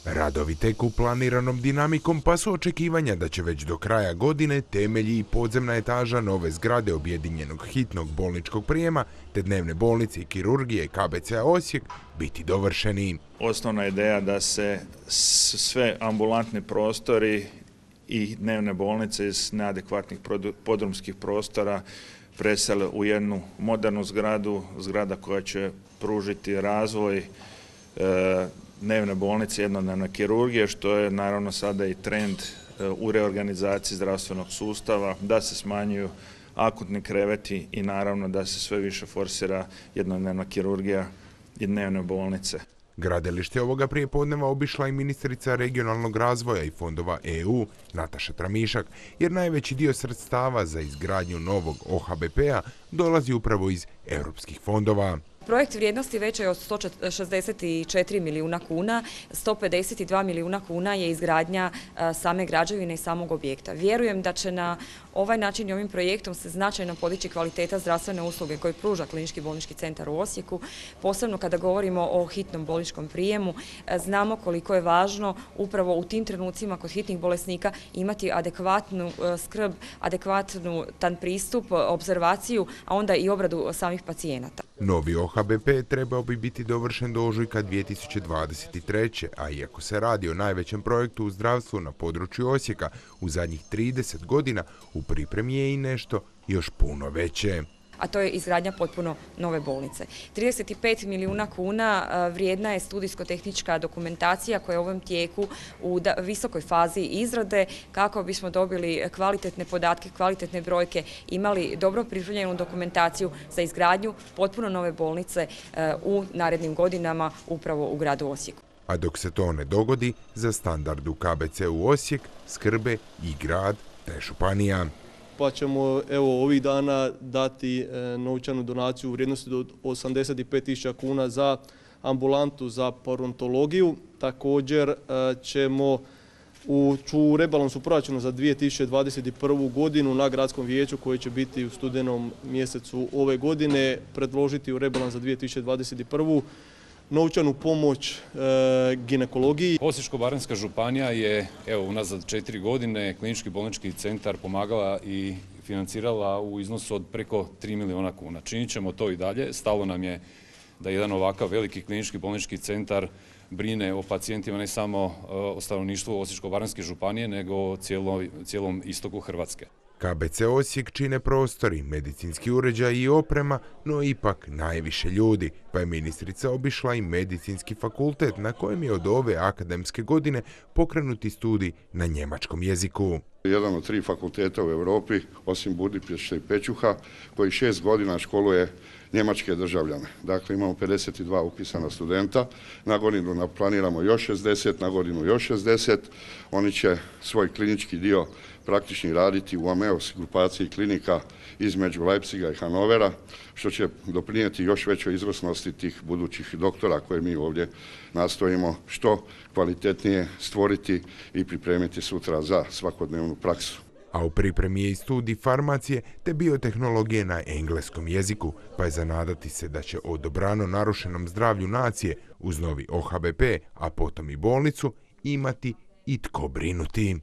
Radovi teku planiranom dinamikom, pa su očekivanja da će već do kraja godine temelji i podzemna etaža nove zgrade objedinjenog hitnog bolničkog prijema te dnevne bolnice i kirurgije KBC-a Osijek biti dovršeni. Osnovna ideja da se sve ambulantni prostori i dnevne bolnice iz neadekvatnih podrumskih prostora presele u jednu modernu zgradu, zgrada koja će pružiti razvoj dnevne bolnice, jednodnevne kirurgije, što je naravno sada i trend u reorganizaciji zdravstvenog sustava, da se smanjuju akutni kreveti i naravno da se sve više forsira jednodnevna kirurgija i dnevne bolnice. Gradilište ovoga prijepodneva obišla i ministrica regionalnog razvoja i fondova EU Nataša Tramišak, jer najveći dio sredstava za izgradnju novog OHBP-a dolazi upravo iz europskih fondova. Projekt vrijednosti veće je od 164 milijuna kuna, 152 milijuna kuna je izgradnja same građevine i samog objekta. Vjerujem da će na ovaj način i ovim projektom se značajno podići kvaliteta zdravstvene usluge koje pruža Klinički bolnički centar u Osijeku. Posebno kada govorimo o hitnom bolničkom prijemu, znamo koliko je važno upravo u tim trenucima kod hitnih bolesnika imati adekvatnu skrb, adekvatan pristup, obzervaciju, a onda i obradu samih pacijenata. Novi OHBP trebao bi biti dovršen do ožujka 2023. a iako se radi o najvećem projektu u zdravstvu na području Osijeka u zadnjih 30 godina, u pripremi je i nešto još puno veće. A to je izgradnja potpuno nove bolnice. 35 milijuna kuna vrijedna je studijsko-tehnička dokumentacija koja je u ovom tijeku u visokoj fazi izrade kako bismo dobili kvalitetne podatke, kvalitetne brojke, imali dobro pripremljenu dokumentaciju za izgradnju potpuno nove bolnice u narednim godinama upravo u gradu Osijeku. A dok se to ne dogodi, za standard u KBC-u Osijek skrbe i grad te županija. Pa ćemo ovih dana dati novčanu donaciju u vrijednosti do 85.000 kuna za ambulantu za parontologiju. Također ćemo u rebalansu proračuna za 2021. godinu na gradskom vijeću koji će biti u studenom mjesecu ove godine predložiti u rebalans za 2021. novčanu pomoć ginekologiji. Osječko-baranjska županija je unazad 4 godine Klinički bolnički centar pomagala i financirala u iznosu od preko 3 milijuna kuna. Činit ćemo to i dalje. Stalo nam je da jedan ovakav veliki klinički bolnički centar brine o pacijentima, ne samo o stanovništvu Osječko-baranjske županije, nego o cijelom istoku Hrvatske. KBC Osijek čine prostori, medicinski uređaj i oprema, no ipak najviše ljudi, pa je ministrica obišla i medicinski fakultet na kojem je od ove akademske godine pokrenuti studij na njemačkom jeziku. Jedan od 3 fakulteta u Europi, osim Budimpešte i Pećuha, koji 6 godina školuje njemačke državljane. Dakle, imamo 52 upisana studenta, na godinu planiramo još 60, na godinu još 60. Oni će svoj klinički dio praktični raditi u Ameos grupaciji klinika između Leipziga i Hanovera, što će doprinijeti još većoj izvrsnosti tih budućih doktora koje mi ovdje nastojimo što kvalitetnije stvoriti i pripremiti sutra za svakodnevnu praksu. A u pripremi je i studij farmacije te biotehnologije na engleskom jeziku, pa je za nadati se da će o dobrano narušenom zdravlju nacije uz novi OHBP, a potom i bolnicu, imati i tko brinuti.